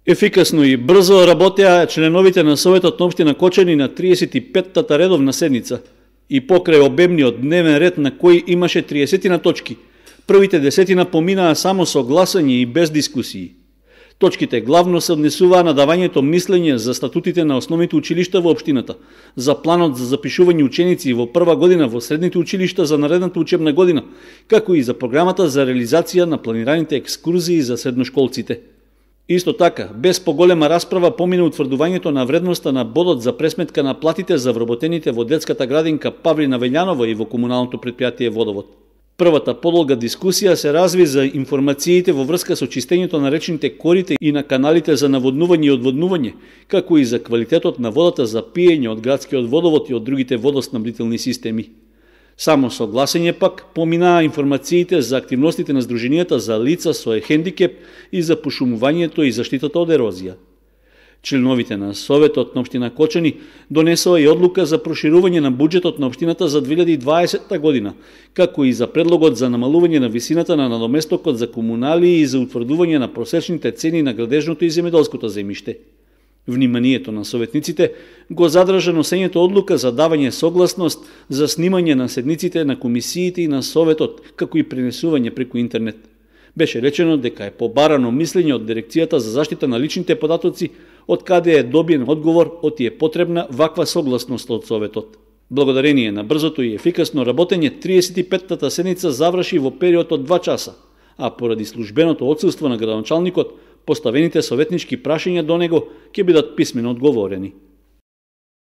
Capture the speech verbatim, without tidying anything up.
Ефикасно и брзо работеа членовите на Советот на општина Кочани на триесет и петтата редовна седница и покрај обемниот дневен ред на кој имаше триесет точки. Првите десетина поминаа само со гласање и без дискусии. Точките главно се однесуваа на давањето мислење за статутите на основните училишта во општината, за планот за запишување ученици во прва година во средните училишта за наредната учебна година, како и за програмата за реализација на планираните екскурзии за средношколците. Исто така, без поголема расправа помина утврдувањето на вредноста на бодот за пресметка на платите за вработените во детската градинка Павлина Вељанова и во комуналното претпријатие Водовод. Првата подолга дискусија се разви за информациите во врска со чистењето на речните корите и на каналите за наводнување и одводнување, како и за квалитетот на водата за пиење од градскиот водовод и од другите водоснабдителни системи. Само со гласење пак поминаа информациите за активностите на здруженијата за лица со хендикеп и за пошумувањето и заштитата од ерозија. Членовите на Советот на општина Кочани донесоа и одлука за проширување на буџетот на општината за две илјади и дваесетта година, како и за предлогот за намалување на висината на надоместокот за комунали и за утврдување на просечните цени на градежното и земјоделското земјиште. Вниманието на советниците го задржа носењето одлука за давање согласност за снимање на седниците на комисиите и на Советот, како и пренесување преку интернет. Беше речено дека е побарано мислење од Дирекцијата за заштита на личните податоци, од каде е добиен одговор од е потребна ваква согласност од Советот. Благодарение на брзото и ефикасно работење, триесет и петтата седница заврши во период од два часа, а поради службеното отсуство на градоначалникот, поставените советнички прашања до него ќе бидат писмено одговорени.